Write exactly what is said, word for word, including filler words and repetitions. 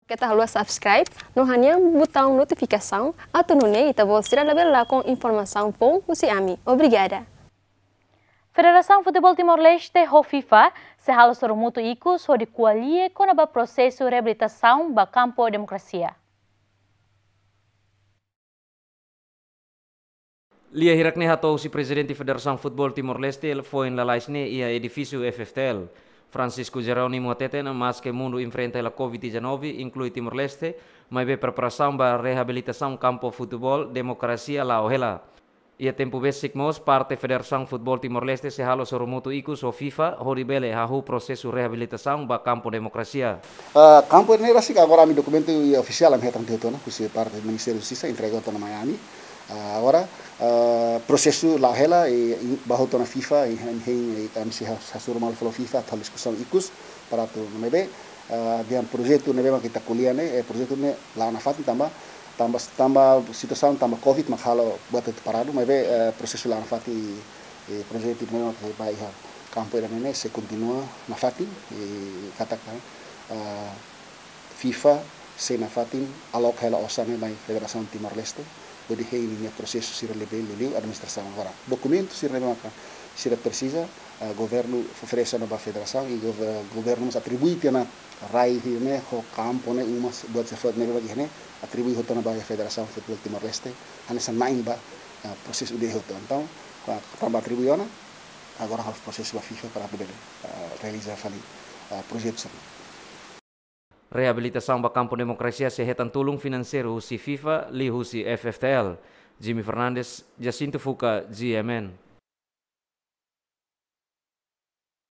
Keta haluha subscribe no hanehan butaun notifikasaun, atu nune'e ita-boot sira labele lakon informasaun foun husi ami. Obrigada. Federasaun Futeból Timor-Leste ho FIFA sei halo sorumutu ikus hodi ko'alia kona-ba prosesu reabilitasaun ba kampu demokrasia. Lia hirak ne'e hato'o husi Prezidente Federasaun Futeból Timor-Leste foin lalais ne'e iha edifísiu F F T L, Francisco Jerónimo hateten, maske mundu enfrenta hela Covid dezanove, inklui Timor-Leste, maibé preparasaun ba reabilitasaun kampu futeból demokrasia la'o hela. Iha tempu besik mós, parte Federasaun Futeból Timor-Leste sei halo sorumutu ikus ho FIFA hodi bele hahú prosesu reabilitasaun ba kampu demokrasia. Ah, kampu ne'e rasik agora ami dokumentu iha ofisiál ami hetan tiha ona, husi parte Ministériu Justisa entrega ona mai ami. Ah, agora, ah, prosesu la'o hela, i, i, ba hotu ona FIFA, i, hein, hein, i, ami sei ha-, hasoru malu fali ho FIFA, atu diskusaun ikus, para atu, maibé, ah, dehan projetu ne'ebé mak ita ko'alia ne'e, eh, projetu ne'e la'o nafatin tanba, tanba, tanba situasaun, tanba Covid mak halo buat atu paradu, maibé, eh, prosesu la'o nafatin, eh, projetu ne'ebé mak ba iha kampu ida-ne'e sei kontinua nafatin, eh, katak, eh, FIFA sei nafatin aloka hela osan ne'e mai Federasaun Timor-Leste, hodi hein ninia prosesu sira ne'ebé liuliu administrasaun agora. Dokumentu sira ne'ebé maka sira presiza, eh, governu oferese ona ba federasaun i gov-, governu mós atribui tiha ona rai ne'e ho kampu ne'e, uma buat sira foun ne'ebé mak iha ne'e atribui hotu ona ba Federasaun Futeból Timor-Leste, hanesan na'in ba, eh, prosesu ida hotu. Entaun, kua-, tanba atribui ona, agora halo prosesu ba FIFA para atu bele, eh, realiza fali, eh, projetu sira-ne'e. Reabilitasaun ba kampu demokrasia sei hetan tulun finanseiru husi FIFA, liuhusi F F T L. Jimmy Fernandes, Jacinto Fuca, G M N.